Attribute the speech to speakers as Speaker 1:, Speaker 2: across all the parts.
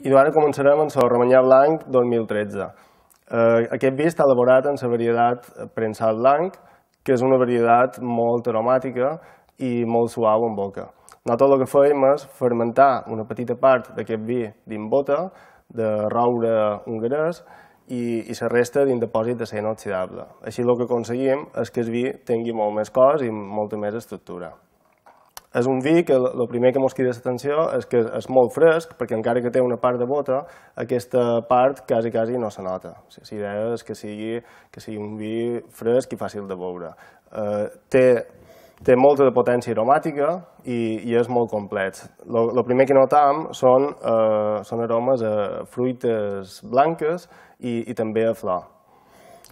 Speaker 1: I ara començarem amb el Romanyà Blanc 2013. Aquest vi està elaborat en la varietat prensat blanc, que és una varietat molt aromàtica i molt suau en boca. Nosaltres el que fèiem és fermentar una petita part d'aquest vi dins bota, de roure hongarès, i la resta dins depòsit de ser inoxidable. Així el que aconseguim és que el vi tingui molt més cos i molta més estructura. És un vi que el primer que ens crida l'atenció és que és molt fresc, perquè encara que té una part de bota, aquesta part quasi no se nota. La idea és que sigui un vi fresc i fàcil de beure. Té molta de potència aromàtica i és molt complet. El primer que notam són aromes a fruites blanques i també a flor.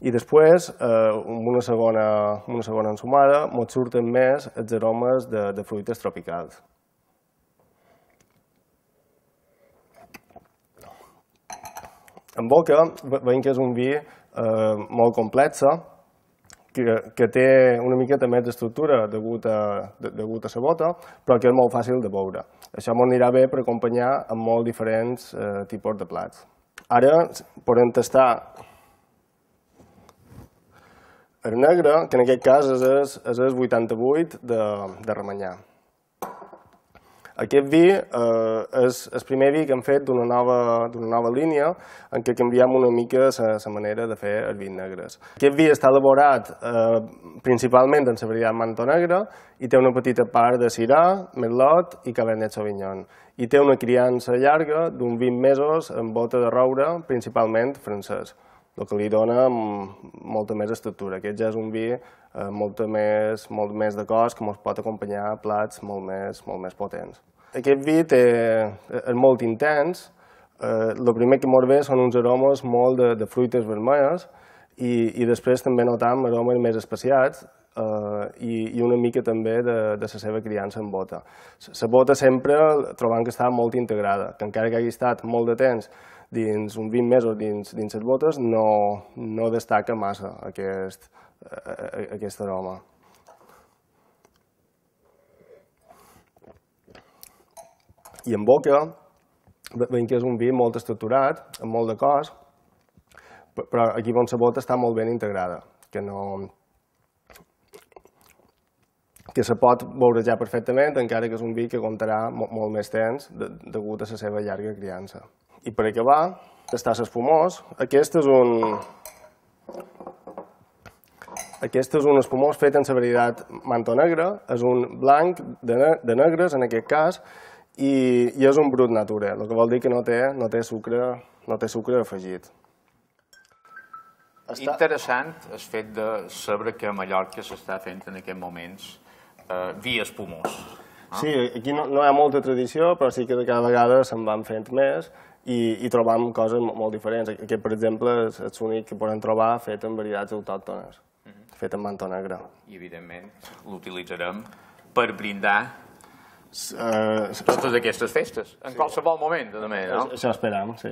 Speaker 1: I després, amb una segona ensumada, ens surten més els aromes de fruites tropicals. En boca veiem que és un vi molt complex, que té una miqueta més d'estructura degut a la bota, però que és molt fàcil de beure. Això ens anirà bé per acompanyar amb molt diferents tipus de plats. Ara podem tastar el negre, que en aquest cas és el 88 de Romanyà. Aquest vi és el primer vi que hem fet d'una nova línia en què canviem una mica la manera de fer els vins negres. Aquest vi està elaborat principalment en la varietat Manto Negre i té una petita part de Syrah, Merlot i Cabernet Sauvignon. I té una criança llarga d'uns 20 mesos en bota de roure, principalment francès, el que li dona molta més estructura. Aquest ja és un vi molt més de cos que ens pot acompanyar a plats molt més potents. Aquest vi és molt intens. El primer que ens ve són uns aromes molt de fruites vermelles i després també notam aromes més especiats i una mica també de la seva criança en bota. La bota sempre trobam que està molt integrada, que encara que hagi estat molt de temps dins uns 20 mesos dins les botes, no destaca massa aquest aroma. I en boca veiem que és un vi molt estructurat, amb molt de cos, però aquí on la bota està molt ben integrada, que se pot beurejar perfectament, encara que és un vi que aguantarà molt més temps degut a la seva llarga criança. I per acabar, tastar l'espumós. Aquest és un espumós fet en la varietat Manto Negre, és un blanc de negres en aquest cas, i és un brut nature, el que vol dir que no té sucre afegit.
Speaker 2: Interessant el fet de saber que a Mallorca s'està fent en aquests moments vi espumós.
Speaker 1: Sí, aquí no hi ha molta tradició, però sí que cada vegada se'n van fent més i trobam coses molt diferents. Aquest, per exemple, és l'únic que podem trobar fet en varietats autòctones, fet en Manto Negre.
Speaker 2: I, evidentment, l'utilitzarem per brindar totes aquestes festes, en qualsevol moment, també, no?
Speaker 1: Això esperam, sí.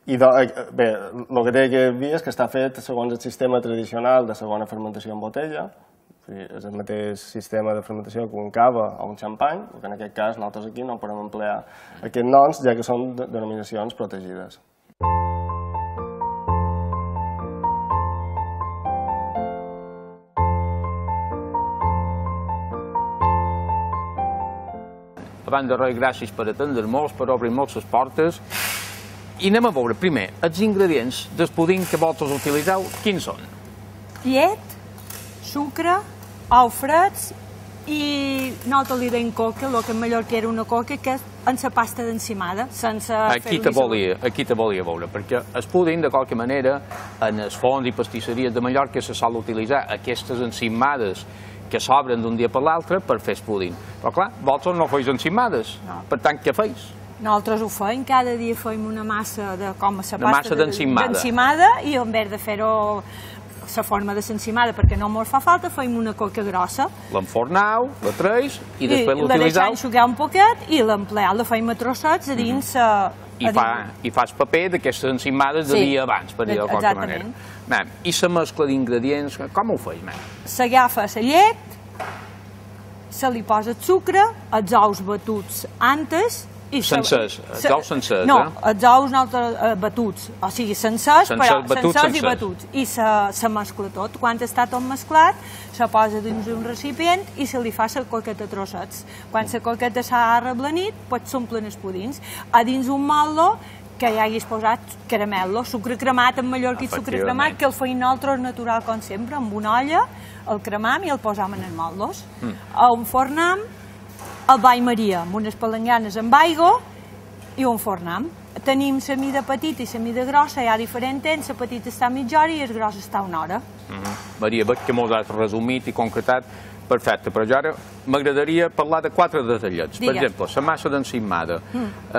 Speaker 1: I bé, el que té aquest vi és que està fet segons el sistema tradicional de segona fermentació en botella, és el mateix sistema de fermentació que un cava o un xampany, que en aquest cas nosaltres aquí no podem emplear aquests noms, ja que són denominacions protegides.
Speaker 2: Abans de res, gràcies per atendre-nos, per obrir-nos les portes. I anem a veure, primer, els ingredients del puding que vosaltres utilitzeu, quins són?
Speaker 3: Llet, sucre, ous freds i nosaltres li deim coca, el que en Mallorca era una coca, que és en la pasta d'encimada, sense fer-li
Speaker 2: Aquí te volia veure, perquè el puding, de qualque manera, en els forns i pastisseries de Mallorca se sol utilitzar aquestes encimades que s'obren d'un dia per l'altre per fer el puding. Però clar, vosaltres no feis encimades, per tant, què feis?
Speaker 3: Nosaltres ho feim, cada dia feim una massa de com a la
Speaker 2: pasta
Speaker 3: d'encimada i en vez de fer-ho la forma de l'encimada, perquè no ens fa falta, feim una coca grossa.
Speaker 2: L'enfornau, la treis i després l'utilitzeu.
Speaker 3: La deixem enxugar un poquet i l'empleat la feim a trossets a dins...
Speaker 2: I fas paper d'aquestes encimades de dia abans, per dir-ho de qualque manera. I la mescla d'ingredients, com ho feis?
Speaker 3: S'agafa la llet, se li posa el sucre, els ous batuts antes
Speaker 2: Sencers, els ous sencers,
Speaker 3: no, els ous batuts, o sigui, sencers i batuts. I se mescla tot. Quan està tot mesclat, se posa dins un recipient i se li fa la coqueta a trossets. Quan la coqueta s'ha arreblanit, doncs s'omplen els pudins. A dins un motlo que ja hagués posat caramel·lo, sucre cremat, en mallorquí sucre cremat, que el feim nosaltres natural com sempre, amb una olla, el cremam i el posam en els motlos. El fornam, el ball Maria, amb unes palanganes amb aigua i un fornam. Tenim la mida petita i la mida grossa, hi ha diferent temps, la petita està mitja hora i la grossa està una hora.
Speaker 2: Maria, veig que m'ho has resumit i concretat perfecte, però jo ara m'agradaria parlar de 4 detallets. Per exemple, la massa d'encimada.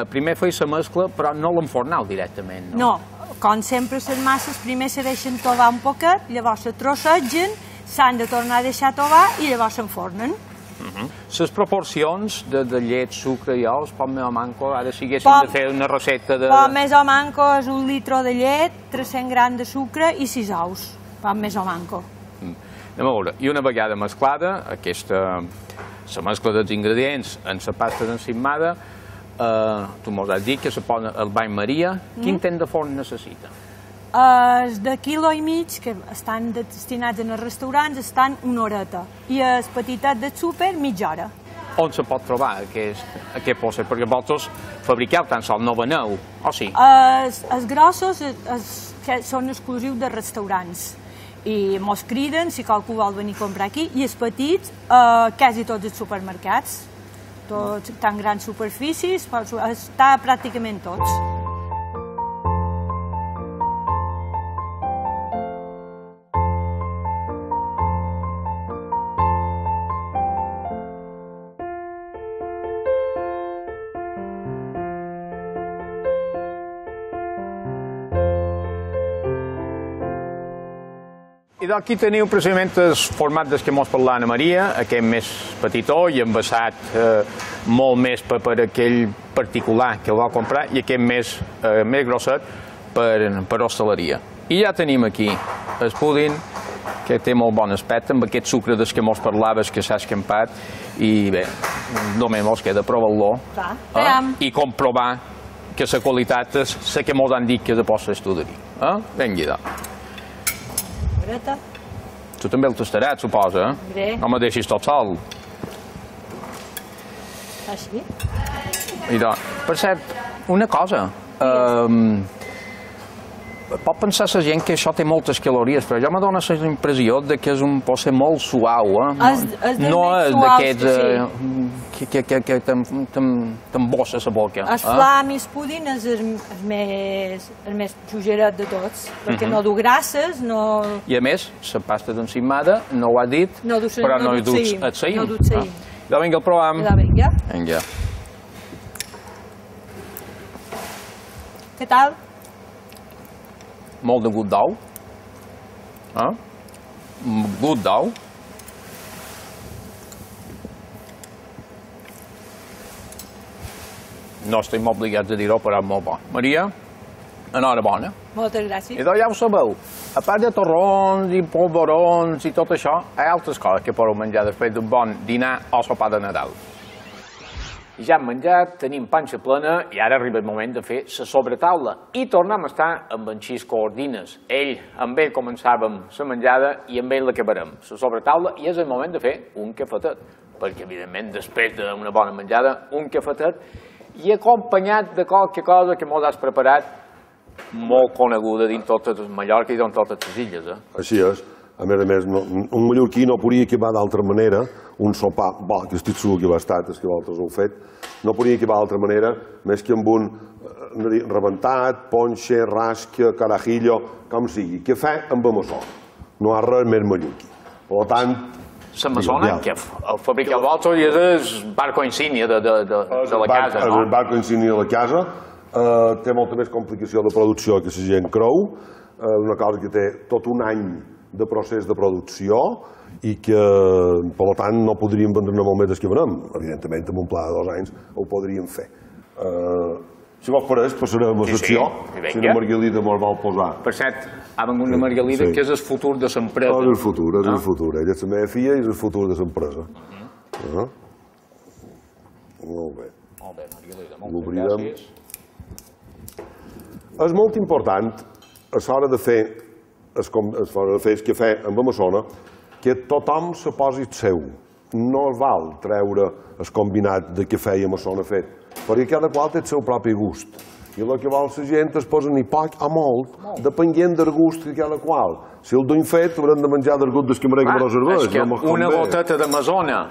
Speaker 2: Primer feia la mescla, però no l'enfornau directament, no?
Speaker 3: No, com sempre les masses primer se deixen tovar un poquet, llavors se trossegen, s'han de tornar a deixar tovar i llavors s'enfornen.
Speaker 2: Les proporcions de llet, sucre i ous, pot més o manco, ara si haguéssim de fer una recepta de...
Speaker 3: Pot més o manco és 1 litre de llet, 300 grams de sucre i 6 ous, pot més o manco.
Speaker 2: Anem a veure, i una vegada mesclada, la mescla dels ingredients en la pasta d'encimada, tu mos has dit que se posa el bany Maria, quin temps de forn necessita?
Speaker 3: Els de quilo i mig, que estan destinats en els restaurants, estan una horeta. I els petitats del súper, mitja hora.
Speaker 2: On se pot trobar aquest postre? Perquè vosaltres fabriqueu tan sols no veneu, o sí?
Speaker 3: Els grossos són exclusius de restaurants. I mos criden si qualcú vol venir a comprar aquí. I els petits, quasi tots els supermercats. Tots, tan grans superfícies, està pràcticament tots.
Speaker 2: I d'aquí teniu precisament el format del que mos parla Anna Maria, aquest més petitó i envasat molt més per aquell particular que el va comprar i aquest més grosset per hostaleria. I ja tenim aquí el púding, que té molt bon aspecte, amb aquest sucre del que mos parlaves que s'ha escampat i bé, només mos queda provar-lo i comprovar que la qualitat és la que mos han dit que és de postre estuderi. Vinga, tu també el tastaràs, suposa? No me deixis tot sol.
Speaker 3: Així?
Speaker 2: Per cert, una cosa. Pot pensar la gent que això té moltes calories, però jo me dóna la impressió que és un postre molt suau. No és d'aquests que t'embossa la boca.
Speaker 3: El flam i el puding és el més xugeret de tots, perquè no du grasses, no...
Speaker 2: I a més, la pasta d'encimada, no ho has dit, però no hi duts el saïm.
Speaker 3: No duts saïm.
Speaker 2: Vinga, el provam.
Speaker 3: Vinga. Què tal?
Speaker 2: Molt de gust d'ou. Gust d'ou. No estem obligats a dir-ho, però és molt bo. Maria, enhorabona.
Speaker 3: Moltes gràcies.
Speaker 2: I ja ho sabeu, a part de torrons i polvorons i tot això, hi ha altres coses que podeu menjar després d'un bon dinar o sopar de Nadal. Ja hem menjat, tenim panxa plena i ara arriba el moment de fer la sobretaula. I tornem a estar amb en Xisco Ordines. Amb ell començàvem la menjada i amb ell l'acabarem. La sobretaula i és el moment de fer un cafetet. Perquè, evidentment, després d'una bona menjada, un cafetet i acompanyat de qualque cosa que mos has preparat molt coneguda dins totes Mallorca i dins totes les illes.
Speaker 4: Així és. A més, un mallorquí no podria acabar d'altra manera un sopar, que estic segur que va estar, és que vosaltres ho heu fet, no podria acabar d'altra manera més que amb un rebentat, ponxa, rasca, carajillo, com sigui, cafè amb amassó. No hi ha res més mallorquí. Per tant...
Speaker 2: La massona, que el fabrica el vosaltres i és el barco insígnia de la casa, no?
Speaker 4: És el barco insígnia de la casa, té molta més complicació de producció que la gent creu, una cosa que té tot un any de procés de producció i que, per tant, no podríem vendre molt més del que venem. Evidentment, amb un pla de 2 anys ho podríem fer. Si vos pareix, passarem a la secció. Si la Margalida mos vol posar.
Speaker 2: Per cert, ha vengut una Margalida que és el futur de l'empresa.
Speaker 4: És el futur, és el futur. Ella és la meva filla i és el futur de l'empresa. Molt bé.
Speaker 2: Molt bé, Margalida, moltes
Speaker 4: L'obrirem.
Speaker 2: gràcies.
Speaker 4: És molt important, a l'hora de fer el cafè amb amassona, que tothom se posi el seu. No val treure el combinat de cafè i amassona fet, perquè cada qual té el seu propi gust. I el que vol la gent es posa ni poc o molt, depenent del gust de cada qual. Si el duim fet, haurem de menjar del gust del cambrer que me lo serveix.
Speaker 2: És que una goteta d'amazona,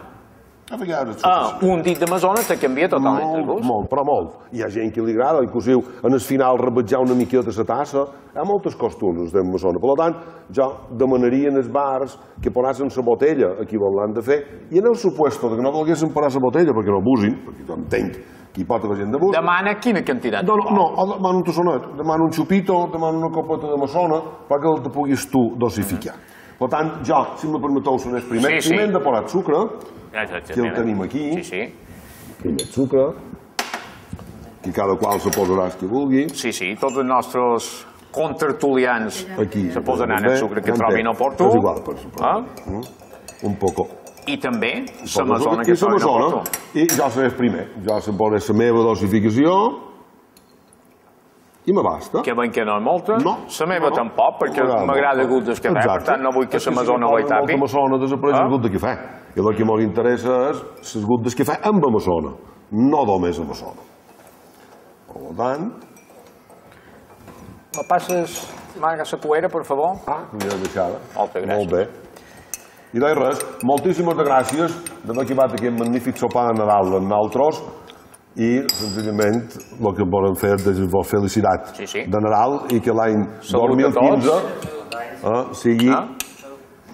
Speaker 2: un dit d'amazona te canvia totalment el gust.
Speaker 4: Molt, però molt. Hi ha gent que li agrada, inclusive en el final rebatjar una miqueta la tassa. Hi ha moltes costures d'amazona. Per tant, jo demanaria en els bars que posessin la botella a qui l'han de fer i en el supuesto que no volguessin posar la botella perquè no abusin, perquè jo entenc que hi pot haver gent d'abús.
Speaker 2: Demana quina quantitat?
Speaker 4: No, demana un tassonet, demana un xupito, demana una copeta d'amassona perquè el te puguis tu dosificar. Per tant, jo, si me permeteu, sonés primer. Primer hem de posar sucre, que el tenim aquí. Primer sucre, que cada qual se posarà el que vulgui.
Speaker 2: Sí, tots els nostres contertulians se posaran el sucre que trobin oportú.
Speaker 4: És igual, per suposar. Un poco.
Speaker 2: I també l'amazona que trobin oportú.
Speaker 4: I jo seré primer. Jo se posaré la meva dosificació i me basta.
Speaker 2: Que ben que no és molta. La meva tampoc, perquè m'agrada el gust del cafè, per tant no vull que l'amazona ho hi tapi.
Speaker 4: L'amazona desapareix el gust del cafè. I el que ens interessa és el gust del cafè amb amassona, no només amassona. Per tant...
Speaker 2: Me passes, Marga, la poera, per favor?
Speaker 4: Ja deixada.
Speaker 2: Moltes gràcies.
Speaker 4: Molt bé. I res, moltíssimes gràcies d'haver acabat aquest magnífic sopar de Nadal amb nosaltres i, senzillament, el que volem fer és vos felicitat de Nadal i que l'any 2015 sigui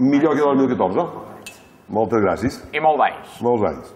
Speaker 4: millor que el 2014. Moltes gràcies.
Speaker 2: I molts anys.
Speaker 4: Molts anys.